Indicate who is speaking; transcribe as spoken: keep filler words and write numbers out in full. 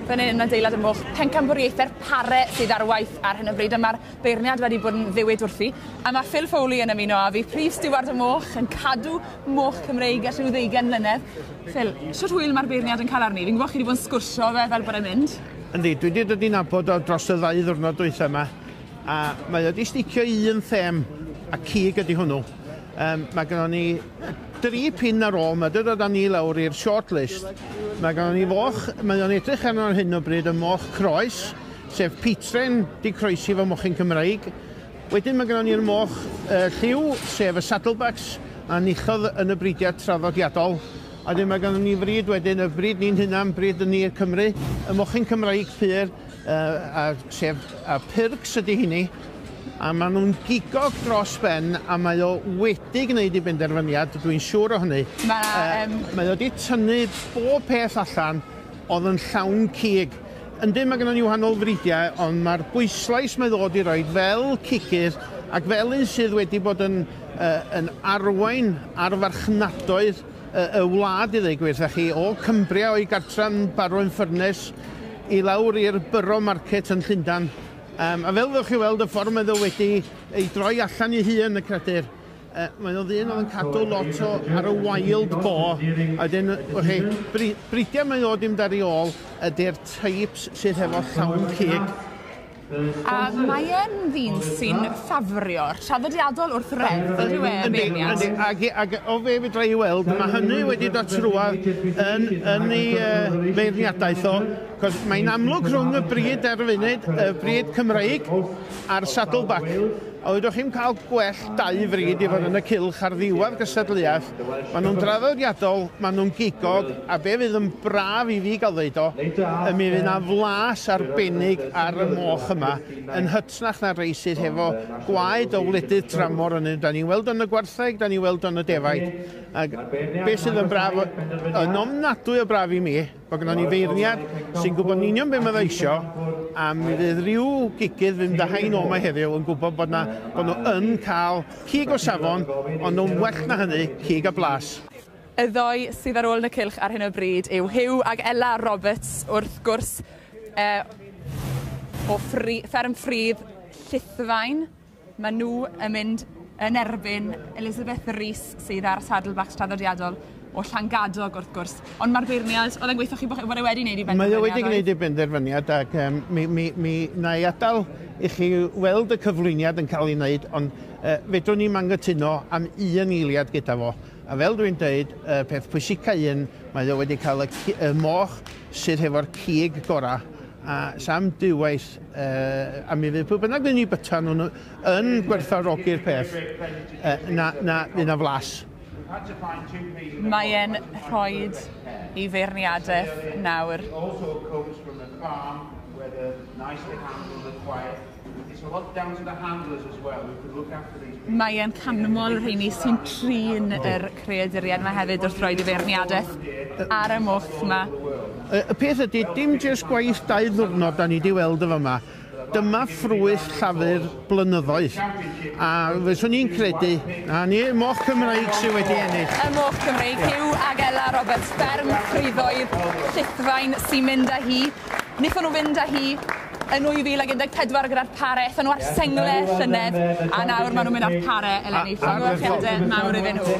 Speaker 1: Fan hyn yn adeilad y moch, pencampwriaethau'r pare sydd ar waith ar hyn o bryd, a mae'r beirniad wedi bod yn ddiwyd wrthi. A mae Phil Foley yn ymuno â fi, prif stiward y moch, yn cadw moch Cymreig ers rhyw ddeugain mlynedd. Phil, shwt hwyl mae'r beirniad yn cael arni? Fi'n gwybod chi wedi bod yn sgwrsio fe fel bod e'n mynd.
Speaker 2: Yndi, dwi wedi dod i nabod o dros y ddau ddwrnod dwytha yma, a mae o wedi sticio i un them, a cig ydy hwnnw. Um, mae gennon ni dri pin ar ôl, mae wedi dod â ni lawr i'r short list. Mae gennon ni foch, mae o'n edrych arno ar hyn o bryd y moch croes, sef Pietren di croesi fo mochyn Cymraeg. Wedyn mae gennon ni'r moch uh, lliw, sef y Saddlebacks, a enillodd yn y bridiad traddodiadol. A wedyn mae gennon ni frid wedyn, y brid ni'n hunan, brid yn ni'r Cymru, y mochyn Cymraeg pur, uh, a, sef a Pyrgs ydy hynny. A maen nhw'n gigog dros ben, a mae o wedi gwneud ei benderfyniad, dwi'n siŵr o hynny.
Speaker 1: Ma', um...
Speaker 2: Uh, mae o wedi tynnu bob peth allan oedd yn llawn cig. Yndyn, mae gennym ni wahanol fridiau, ond mae'r bwyslais mae ddod i roed fel cigydd ac fel un sydd wedi bod yn, uh, yn arwain ar farchnadoedd uh, y wlad i ddweud gwir, chi, o Cumbria o'i gartran Barrow in Furness i lawr i'r Borough Market yn Llundain. Um, a fel ddewch chi weld y ffordd mae o wedi ei droi allan i hun y creadur, uh, mae o ddyn oedd yn cadw lot o ar y wild boar. A wedyn, okay, bridiau mae o dim dar ei ôl ydy'r types sydd hefo llawn cig.
Speaker 1: A mae e'n ddyn sy'n ffafrio'r traddodiadol wrth reddf, ydyw e, beirniad?
Speaker 2: Yndi, ac, ac o fe fedra i weld, mae hynny wedi dod trwadd yn, yn ei uh, beirniadaeth o, cos mae'n amlwg rhwng y brid ar y funud, y brid Cymreig a'r Saddleback. A oeddech chi'n cael gwell dau frid i fod yn y cylch ar ddiwedd gystadleuaeth. Maen nhw'n draddodiadol, maen nhw'n gigog, a be fydd yn braf i fi gael ddeud o, y mi fydd na flas arbennig ar y moch yma, yn hytrach na rei sydd hefo gwaed o wledydd tramor yn. Da ni'n weld yn y gwartheg, da ni'n weld yn y defaid. Ac be sydd yn braf, yn ofnadwy o braf i mi, bod gynnon ni feirniad sy'n gwybod yn union be mae o isio, a mi fydd rhyw gigydd fynd â hain o yma heddiw yn gwybod bod, na, bod nhw yn cael cig o safon, ond nhw'n well na hynny, cig a blas.
Speaker 1: Y ddoi sydd ar ôl yn y cylch ar hyn o bryd yw Huw ag Ella Roberts, wrth gwrs, eh, o ffri, fferm Ffridd Llithfaen. Maen nhw yn mynd yn erbyn Elizabeth Rees sydd ar Saddlebacks traddodiadol o Llangadog, wrth gwrs. Ond mae'r beirniad, oedd e'n gweithio chi bod e wedi gwneud ei benderfyniad?
Speaker 2: Mae o wedi gwneud ei benderfyniad ac um, mi, mi, mi na i adael i chi weld y cyflwyniad yn cael ei wneud, ond uh, fedrwn ni'm anghytuno am un eiliad gyda fo. A fel dwi'n dweud, y peth pwysica un, mae o wedi cael y, y moch sydd hefo'r cig gorau. A sam diwaith, uh, a mi fydd pwy bynnag fydd ni byta nhw'n yn gwerthfawrogi'r peth, uh, na, na, fydd na flas.
Speaker 1: Mae e'n rhoi ei feirniadaeth nawr. Mae e'n canmol rheini sy'n trin yr creaduriaid yma hefyd wrth roed ei feirniadaeth ar y moch yma.
Speaker 2: Y peth ydy, dim jyst gwaith dau ddwrnod da ni wedi weld y fama. Dyma ffrwyth llafur blynyddoedd. A fyswn i'n credu, na ni, moch Cymraeg sydd wedi ennill.
Speaker 1: Y moch Cymreig, Huw ag Ella Roberts, fferm Ffriddoedd Llithfaen sy'n mynd â hi. Wnaethon nhw fynd â hi yn dwy fil ag un deg pedwar gyda'r pare, aethon nhw ar sengle llynedd, a nawr maen nhw'n mynd ar pare eleni. Llongyfarchiadau mawr iddyn nhw.